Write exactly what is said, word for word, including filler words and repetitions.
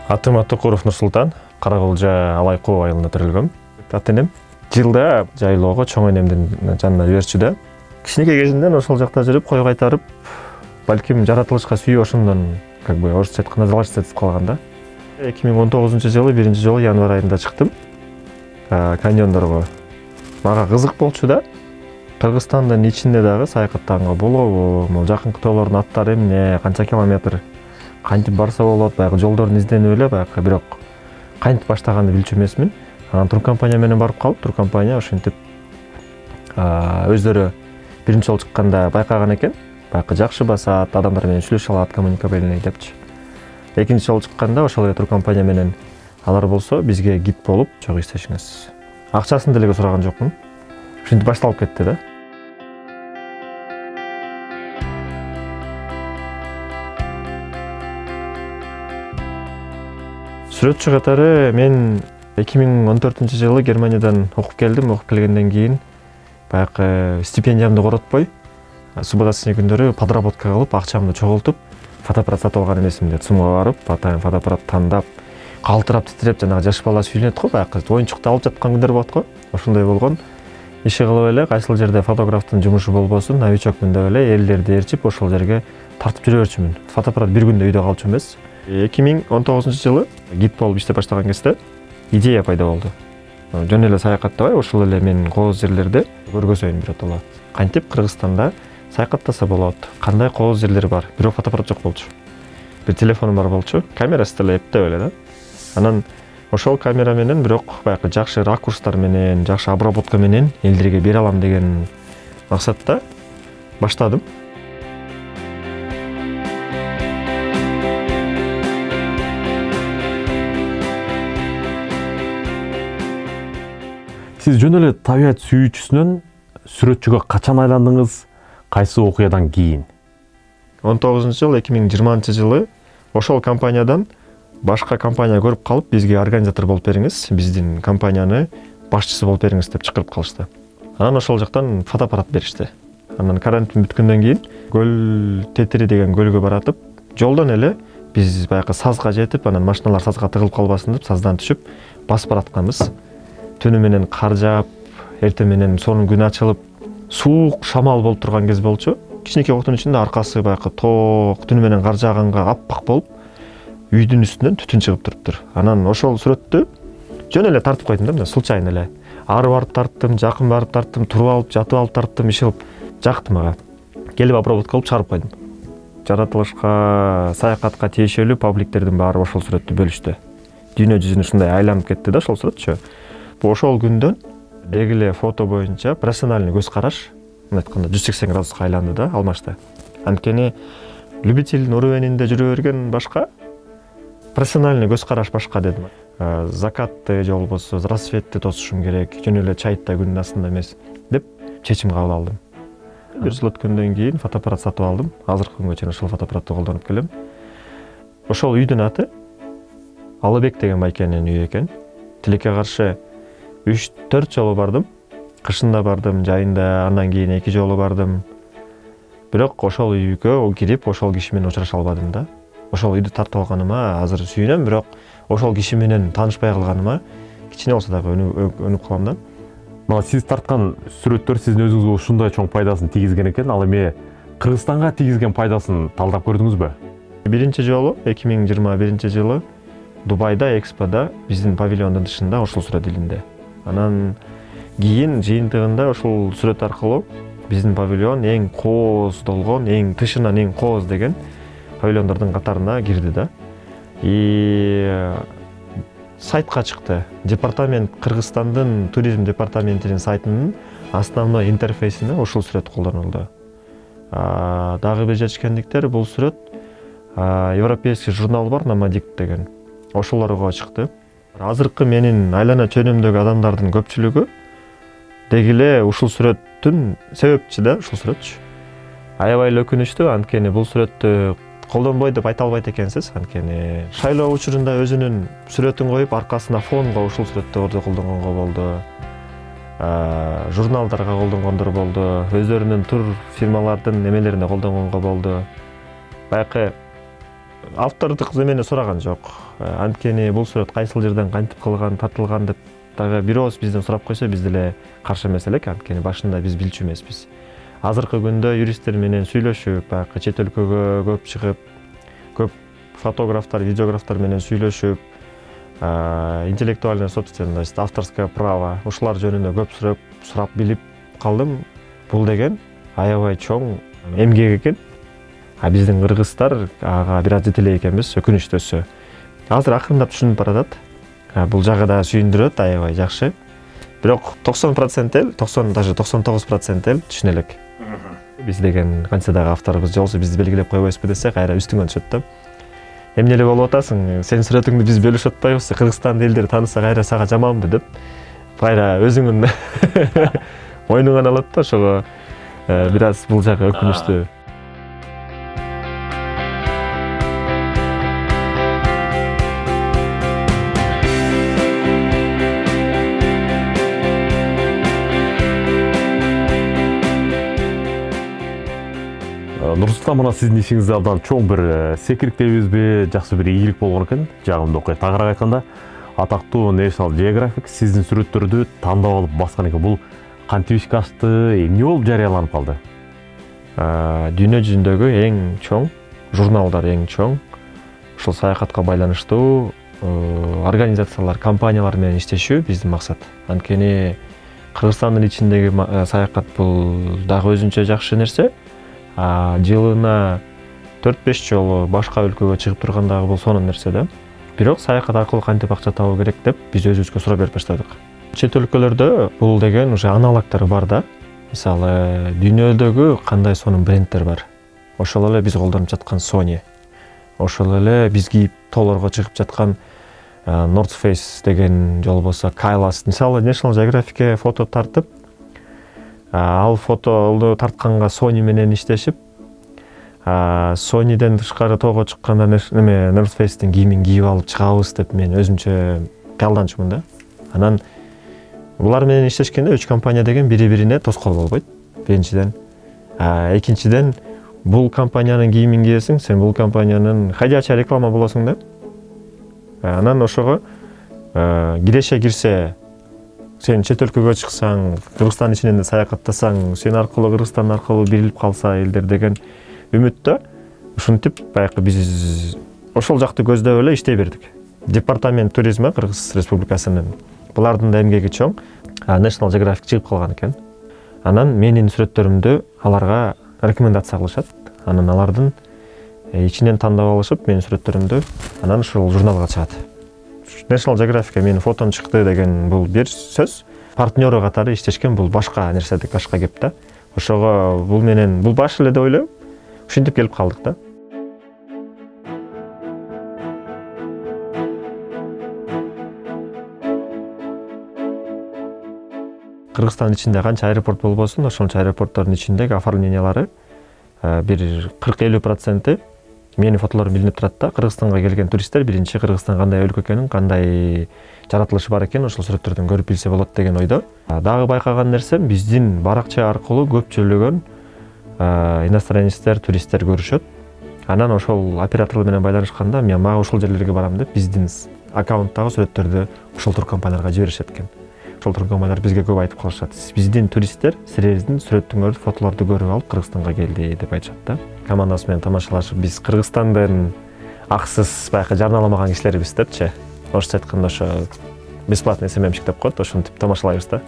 Атым Атыкуров Нурсултан, Каракулжа Алайкоо айылында төрөлгөм. Ата энем жылда жайлоого чоң энемдин жанына жиберчү да. Кичинекей кезимден ошол жакта жүрүп, кой кайтарып, балким жаратылышка сүйүп ошондон как бы орусча айтканда залачиться калган да. эки миң он тогузунчу жылы биринчи жолу январь айында чыктым. Каньондорго. Мага кызык болчу да. Кыргызстандын ичинде дагы саякаттаганга болобу? Могу жакынкы тоолордун аттары эмне, канча километр, кантип барса болот, баягы жолдорун изденип эле, баягы бирок кантип баштаганды билчү эмесмин. Анан туркомпания менен барып калып, туркомпания ошентип өздөрү биринчи жолу чыкканда байкаган экен. Баягы жакшы басат, адамдар менен сүйлөшө алат, коммуникабельный депчи. Экинчи жолу чыкканда ошол эле туркомпания менен алар болсо бизге гид болуп чогуу иштешиңиз. Акчасын деле сураган жокмун. Ошентип башталып кетти да. Сүрөтчү катары мен эки миң он төртүнчү жылы Германиядан окуп келдим. Окуп келгенден кийин баягы стипендиямды коротпой, суббота күндөрү подработка кылып, акчамды чогултуп, фотоаппарат сатып алган эмесимде. ЦУМга барып, атайын фотоаппарат тандап, калтырап, титиреп, жанагы жаш бала сүйүнөт го, баягы оюнчукта алып жаткан күндөр болот го. Ошондой болгон. Иши кылып эле, кайсыл жерде фотографтын жумушу болбосун, новичокмун деп эле элдерди ээрчип, ошол жерге тартып жүрө берчүмүн. Фотоаппарат бир күндө үйдө калчу эмес. эки миң он тогузунчу жылы гид болуп иштеп баштаган кезде идея пайда болду. Жөн эле саякаттабай, ошол эле мен кооз жерлерди көргөзөйүн биротоло. Кантип Кыргызстанда саякаттаса болот, кандай кооз жерлер бар. Бирок фотоаппарат жок болчу. Бир телефонум бар болчу, камерасы деле эптеп эле да. Анан ошол камера менен бирок баягы жакшы ракурстар менен, жакшы обработка менен элдерге бере алам деген максатта баштадым. Сиз жөн эле табият сүйүүчүсүнөн сүрөтчүгө качан айландыңыз, кайсы окуядан кийин? он тогузунчу жыл эки миң жыйырманчы жылы ошол компаниядан башка компания көрүп калып, бизге организатор болуп бериңиз, биздин компанияны башчысы болуп бериңиз деп чакырып калышты. Анан ошол жактан фотоаппарат беришти. Анан карантин бүткөндөн кийин Көл Тетири деген көлгө баратып, жолдон эле биз баягы сазга жетип, анан машиналар сазга тыгылып калбасын деп саздан түшүп басып баратканбыз. Түнү менен кар жаап, эртең менен сонун күн ачылып, суук шамал болуп турган кез болчу. Кичинекей октун ичинде аркасы баягы тоок, түнү менен кар жааганга аппак болуп, үйдүн үстүнөн түтүн чыгып туруптур. Анан ошол сүрөттү жөн эле тартып койдум да, мына случайно эле. Ары барып тарттым, жакын барып тарттым, туруп алып, жатып алып тарттым, иш кылып жакты мага. Келип обработка кылып чыгарып койдум. Жаратылышка, саякатка тиешелүү пабликтердин баары ошол сүрөттү бөлүштү. Дүйнө жүзүнө ушундай айланып кетти да ошол сүрөтчү. Ошол күндөн дегиле фото боюнча профессиональный көз караш, мына айтканда жүз сексен градуска айланды да, алмашты. Анткени любителдин уровенинде жүрө берген башка, профессиональный көз караш башка дедим. Закатты же болбосо рассветти тосушум керек, жөн эле чайтта күндүн астында эмес деп чечим кабыл алдым. Бир жыл өткөндөн кийин фотоаппарат сатып алдым. Азыркы күнгө чейин ошол фотоаппаратты колдонуп келем. Ошол үйдүн аты Алыбек деген байкенин үйү экен. Тилекке каршы үч төрт жолу бардым. Кышында бардым, жайында, андан кийин эки жолу бардым. Бирок ошол үйгө кирип, ошол киши менен учураша албадым да. Ошол үйдү тартып алганыма азыр сүйүнөм, бирок ошол киши менен таанышпай калганыма кичине болсо дагы өнүп калам да. Мына сиз тарткан сүрөттөр сиздин өзүңүзгө ушундай чоң пайдасын тийгизген экен, ал эми Кыргызстанга тийгизген пайдасын талдап көрдүңүзбү? Биринчи жолу эки миң жыйырма биринчи жылы Дубайда, Экспода биздин павильондун тышында ошол сүрөт илинди. Анан кийин жыйынтыгында ошол сүрөт аркылуу биздин павильон эң кооздолгон, эң тышынан эң кооз деген павильондордун катарына кирди да. И сайтка чыкты. Департамент Кыргызстандын туризм департаментинин сайтынын основной интерфейсине ошол сүрөт колдонулду. Дагы бир жетишкендиктер, бул сүрөт европейский журнал бар, Номадикт деген. Ошолорго чыкты. Азыркы менин айлана чөнүмдөгү адамдардын көпчүлүгү дегиле ушул сүрөттүн себепчи да, ушул сүрөтчү. Аябай эле өкүнүчтүү, анткени бул сүрөттү колдонбой деп айта албайт экенсиз, анткени шайлоо учурунда өзүнүн сүрөтүн коюп, аркасына фонго ушул сүрөттөрдү колдонгонго болду. Журналдарга колдонгондор болду, өздөрүнүн тур фирмалардын немелерине колдонгонго болду. Баягы автордук эмени сураган жок. анткени бул сүрөт кайсыл жерден кантип кылган, тартылган деп дагы бир ооз бизден сурап койсо биз деле каршы эмес элек, анткени башында биз билчү эмеспиз. Азыркы күндө юристтер менен сүйлөшүп, баягы чет өлкөгө көп чыгып, көп фотографтар, видеографтар менен сүйлөшүп, интеллектуальная собственность, авторское право ушулар жөнүндө көп сурап, сурап билип калдым. Бул деген аябай чоң эмгек экен. А биздин кыргыздар ага бир аз жетелей экенбиз, өкүнүчтүүсү. Азыр акырындап түшүнүп баратат. Бул жагы да сүйүндүрөт, аябай жакшы. Бирок токсон процент эл, токсон даже токсон тогуз процент эл түшүнө элек. Биз деген канча дагы авторбуз же болбосо бизди белгилеп койбойсузбу десе, кайра үстүңөн түшөт да. Эмне эле болуп атасың, сенин сүрөтүңдү биз бөлүшүп атпайбызбы, Кыргызстандын элдери тааныса кайра сага жаманбы деп, кайра өзүңүн мойнуңан алат да, ошого бир аз бул жагы өкүнүчтүү. Нурсултан, мына сиздин ишиңизде абдан чоң бир секирик дейбизби, жакшы бир ийгилик болгон экен. Жагымдуу окуя. Тагыраак айтканда, атактуу National Geographic сиздин сүрөттөрдү тандап алып баскан экен. Бул кантип ишке ашты, эмне болуп жарыяланып калды? Дүйнө жүзүндөгү эң чоң журналдар, эң чоң ушул саякатка байланыштуу организациялар, компаниялар менен иштешүү биздин максат. Анткени Кыргызстандын ичиндеги саякат бул дагы өзүнчө жакшы нерсе. Жылына төрт беш жолу башка өлкөгө чыгып тургандагы бул сонун нерсе да. Бирок саякат аркылуу кантип акча табуу керек деп биз өзүбүзгө суроо берип баштадык. Чет өлкөлөрдө бул деген уже аналогдор бар да. Мисалы, дүйнөдөгү кандай сонун брендтер бар. Ошол эле биз колдонуп жаткан Sony, ошол эле биз кийип тоолорго чыгып жаткан North Face деген, же болбосо Кайлас. Мисалы, National Geographic'е фото тартып, ал фотону тартканга Sony менен иштешип, Sonyден тышкары тоого чыкканда неме North Face'тин кийимин кийип алып чыгабыз деп мен өзүмчө кыялданчумун да. Анан булар менен иштешкенде үч компания деген бири-бирине тоскоол болбойт. Биринчиден, экинчиден, бул компаниянын кийимин кийесиң, сен бул компаниянын ходячая реклама болосуң да. Анан ошого киреше кирсе, сен чет өлкөгө чыксаң, Кыргызстан ичинен саякаттасаң, сен аркылуу Кыргызстан аркылуу билип калса элдер деген үмүттө, ушинтип баягы биз ошол жакты көздөп эле иштей бердик. Департамент туризми Кыргыз Республикасынын булардын да эмгеги чоң. National Geographic чыгып калган экен. Анан менин сүрөттөрүмдү аларга рекомендация кылышат. Анан алардын ичинен тандап алышып, менин сүрөттөрүмдү анан ушул журналга чыгат. National Geographic'е менин фотом чыкты деген бул бир сөз. Партнеру катары иштешкен бул башка нерседик, башка кеп да. Ошого бул менен бул баш эле деп ойлойм. Ушинтип келип калдык да. Кыргызстан ичинде канча аэропорт болбосун, ошончо аэропорттордун ичиндеги оформлениялары бир кырк элүү проценти менин фотолорум билинип турат да. Кыргызстанга келген туристтер биринчи Кыргызстан кандай өлкө экенин, кандай жаратылышы бар экенин ошол сүрөттөрдөн көрүп билсе болот деген ойдо. Дагы байкаган нерсем, биздин баракча аркылуу көпчүлүгөн иностранецтер, туристтер көрүшөт. Анан ошол оператор менен байланышканда, мен мага ушул жерлерге барам деп биздин аккаунттагы сүрөттөрдү ошол туркомпанияларга жиберишет экен. Ошол туркомпаниялар бизге көп айтып калышат. Биздин туристтер силердин сүрөтүңөрдү, фотолорду көрүп алып Кыргызстанга келди деп айтышат да. Командасы менен тамашалашып, биз Кыргызстандын аксыз баягы жарналамаган кишилерибиз депчи. Орусча айтканда ошо бесплатный эс эм эм чик деп коет, ошентип тамашалайбыз да.